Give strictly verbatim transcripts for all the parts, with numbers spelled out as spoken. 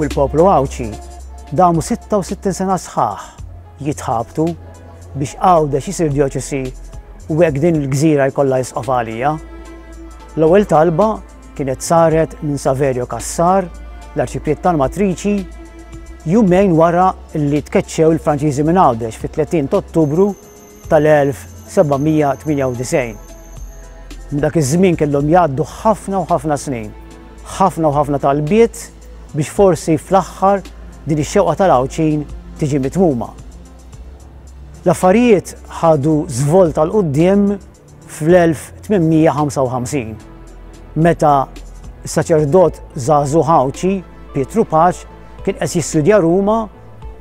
u l-poplu Għawdxi damu sitta u sittin sena sħaħ jitħabtu biex Għawdex isir djoċesi u hekk din il-gżira jkollha isqof għalija. L-ewwel talba kienet saret minn Saverio Cassar, l-arċipriet tal-Matriċi, jumejn wara li tkeċċew il-Franċiżi minn Għawdex fit-tletin ta' Ottubru tal-elf seba' mija tmienja u disgħin. Minn dak iż-żmien kellhom jgħaddu ħafna u ħafna snin, ħafna u ħafna talbiet biex forsi fl-aħħar din ix-xewqa tal-Għawdxin tiġi mitmuma. L-affarijiet ħadu żvolta 'l quddiem fl-elf tmien mija ħamsa u ħamsin meta saċerdot żagħżugħ Għawdxi, Pietru Pace, kien qed jistudja Ruma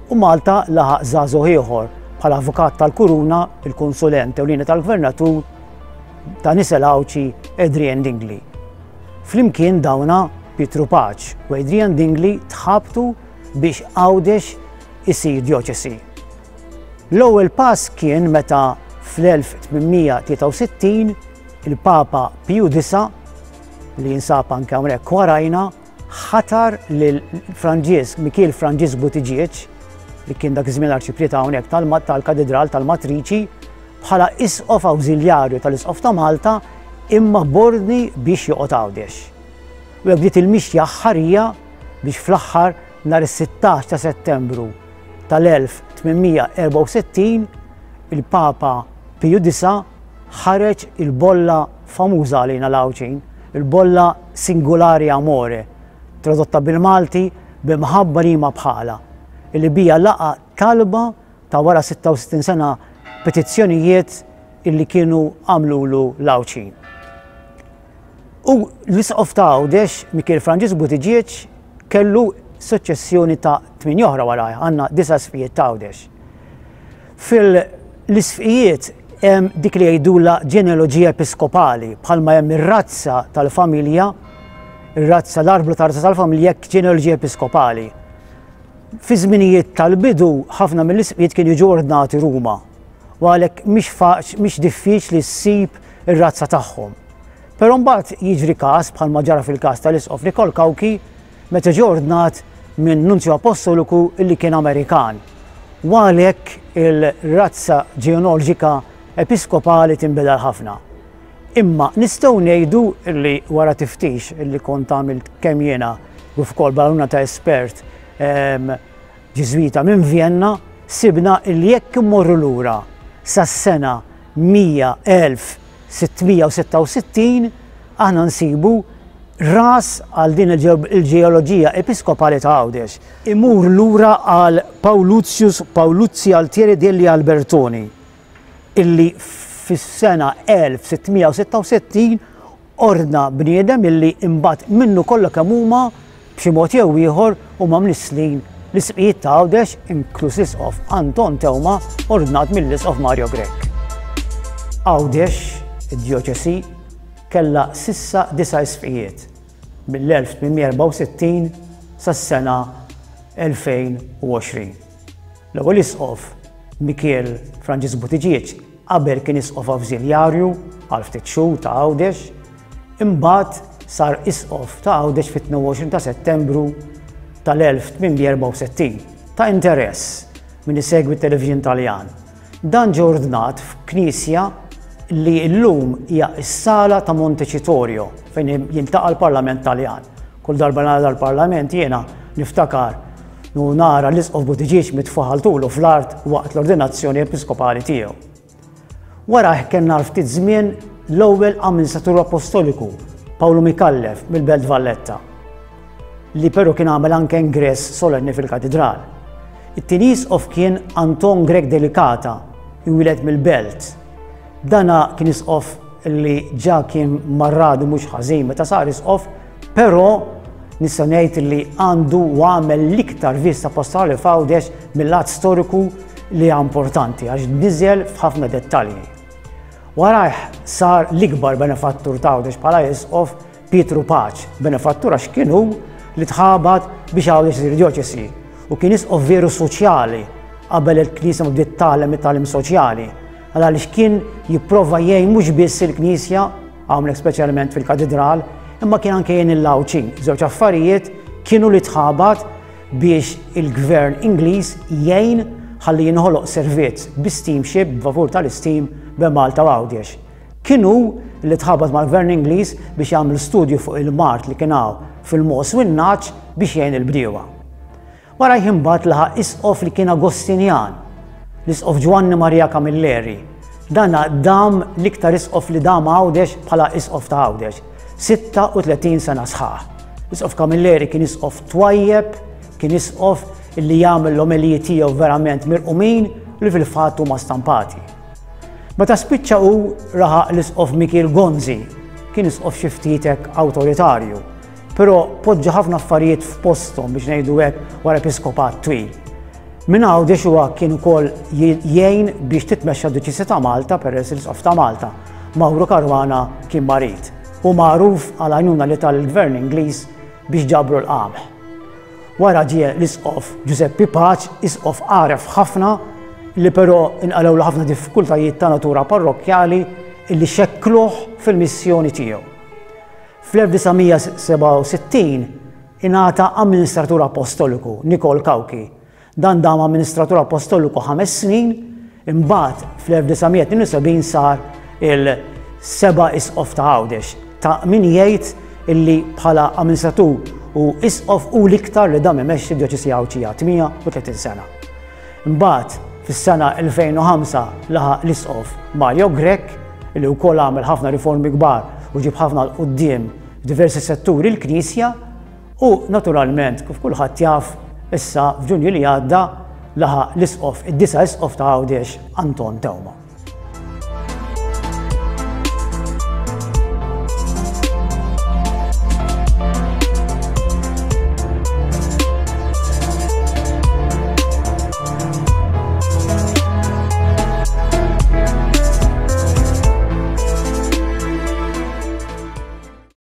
u Malta laħaq żagħżugħ ieħor bħala avukat tal-Kuruna, il-konsulent ewlieni tal-Gvernatur ta' nisel Għawdxi, Adrian Dingli. Flimkien dawna, Pietru Pace u Adrian Dingli, tħabtu biex Għawdex isir djoċesi. L-ewwel pass kien meta fl-elf tmien mija tlieta u sittin il-Papa Piju Disa, li jinsab anke hawnhekk warajna, ħatar lil Franġisk Mikiel Franġisk Buttigieg, li kien dak iż-żmien arċipriet hawnhekk tal-Katedral tal-Matriċi, bħala isqof awżiljarju tal-Isqof ta' Malta imma b'ordni biex joqgħod Għawdex. U hekk bdiet il-mixja ħarija biex fl-aħħar nhar is-sittax ta' Settembru tal-elf tmien mija erbgħa u sittin il-Papa Piju Disa ħareġ il-bolla famuża għalina l-Għawdxin, il-bolla Singolare Amore, tradotta bil-Malti "B'imħabba liema bħala", illi bija laqa talba ta' wara sitta u sittin sena petizzjonijiet illi kienu għamlulu l-Għawdxin. U l-Isqof ta' Għawdex, Mikiel Franġisk Buttigieg, kellu suċċessjoni ta' tmien oħra warajh, għandna disa' isqfijiet ta' Għawdex. Fil-isqfijiet hemm dik li jgħidula ġenealoġija episkopali, bħalma hemm ir-razza tal-familja, ir-razza, l-arblu ta' razza tal-familja, ġenealoġija episkopali. Fi żminijiet tal-bidu ħafna mill-isqfijiet kienu jiġu ordnati Ruma, u għalhekk mhix mhix diffiċli ssib ir-razza tagħhom. Però mbagħad jiġri każ bħalma ġara fil-każ tal-Isqof Nikol Cauchi meta ġie ordnat minn Nunzju Apostoliku illi kien Amerikan. U għalhekk il-razza ġenealoġika episkopali tinbidel ħafna. Imma nistgħu ngħidu li wara tiftix illi kont għamilt kemm jiena u wkoll bl-għajnuna ta' espert Ġiżwita minn Vienna, sibna illi jekk immorru lura sas-sena elf sitt mija sitta u sittin aħna nsibu ras għal din il-ġeoloġija episkopali ta' Għawdex. Imur lura għal Pauluzius Pauluzzi Altieri degli Albertoni, illi fis-sena elf sitt mija sitta u sittin ordna bniedem illi imbagħad minnu kollha kemm huma b'xi mod jew ieħor huma mnisslin l-isqfijiet ta' Għawdex, inkluż l-Isqof Anton Teuma ordnat mill-Isqof Mario Grech. Għawdex, id-djoċesi, kella s'issa disa' isqfijiet mill-elf tmien mija erbgħa u sittin sas-sena elfejn u għoxrin. L-ewwel isqof, Mikiel Franġisk Buttigieg, qabel kien isqof awżiljarju għal ftit xhur ta' Għawdex, imbagħad sar isqof ta' Għawdex fit-tnejn u għoxrin ta' Settembru tal-elf tmien mija erbgħa u sittin. Ta' interess min isegwi t-television Taljan. Dan ġie ordnat f'knisja li llum hija s-sala ta' Montecitorio fejn jiltaqa' l-Parlament Taljan. Kull darba nara l-Parlament jiena niftakar u nara l-Isqof Buttigieg mitfugħ għal tulu fl-art waqt l-ordinazzjoni episkopali tiegħu. Wara kellna ftit żmien l-ewwel amministratur apostoliku, Paolo Micallef mill-Belt Valletta, li però kien għamel anke ingress solenni fil-katedral. It-tieni isqof kien Anton Grech Delicata, imwieled mill-Belt. Dana kien isqof li ġa kien marradu mhux ħażin meta sar isqof, però nista' ngħid li għandu u għamel l-iktar vista pastorali f'Għawdex mill-lat storiku li hija importanti għax niżel f'ħafna dettalji. Warajh sar l-ikbar benefattur ta' Għawdex bħala isqof, Pietru Pace, benefattur għax kienu li tħabat biex Għawdex isir djoċesi u kien isqof veru soċjali qabel il-Knisja ma bdiet tgħallem it-tagħlim soċjali. Għaliex kien jipprova jgħin mhux biss il-Knisja, hawnhekk speċjalment fil-katedral, imma kien anke jgħin il-Għawdxin. Żewġ affarijiet kienu li tħabat biex il-gvern Ingliż jgħin ħalli jinħoloq servizz bi steamship, b'vapur tal-steam bejn Malta u Għawdex. Kien hu li tħabat mal-gvern Ingliż biex jagħmel studju fuq il-mard li kien hawn fil-mogħoż u n-nagħaġ biex jgħin il-bdiewa. Wara imbagħad laħaq isqof li kien Agostinjan, l-Isqof Ġwanni Maria Camilleri. Dan dam l-iktar isqof li dam Għawdex bħala isqof ta' Għawdex, sitta u tletin sena sħaħ. L-Isqof Camilleri kien isqof twajjeb, kien isqof li jagħmel l-omeliji tiegħu verament mirqumin li fil-fatt huma stampati. Meta spiċċa u laħaq l-Isqof Mikiel Gonzi, kien isqof xi ftit hekk awtoritarju, però poġġa ħafna affarijiet f'posthom, biex ngħidu hekk, wara episkopat twil. Minn Għawdex huwa kien ukoll jgħin biex titmexxa d-Djoċesi ta' Malta, peress l-Isqof ta' Malta, Mauro Caruana, kien marid. U magħruf għal għajnuna li tal-gvern Ingliż biex ġabru l-qamħ. Wara ġie l-Isqof Giuseppe Pace, isqof għaref ħafna li però inqalgħu ħafna diffikultajiet ta' natura parrokkjali illi xekkluh fil-missjoni tiegħu. Fl-elf disa' mija sebgħa u sittin ingħata amministratur apostoliku, Nikol Cauchi. Dan dam amministratur apostoliku ħames snin, imbagħad fl-elf disa' mija tnejn u sebgħin sar il-seba' isqof ta' Għawdex. Ta' min jgħid illi bħala amministratur u isqof u l-iktar li dam imexxi d-djoċesi Għawdxija, tmienja u tletin sena. Imbagħad fis-sena elfejn u ħamsa laħaq l-Isqof Mario Grech, li wkoll għamel ħafna riformi kbar u ġib ħafna 'l quddiem diversi setturi l-Knisja, u naturalment, kif kulħadd jaf, issa f'Ġunju li għadda laħaq l-isqof, id-disa' isqof ta' Għawdex, Anton Teuma.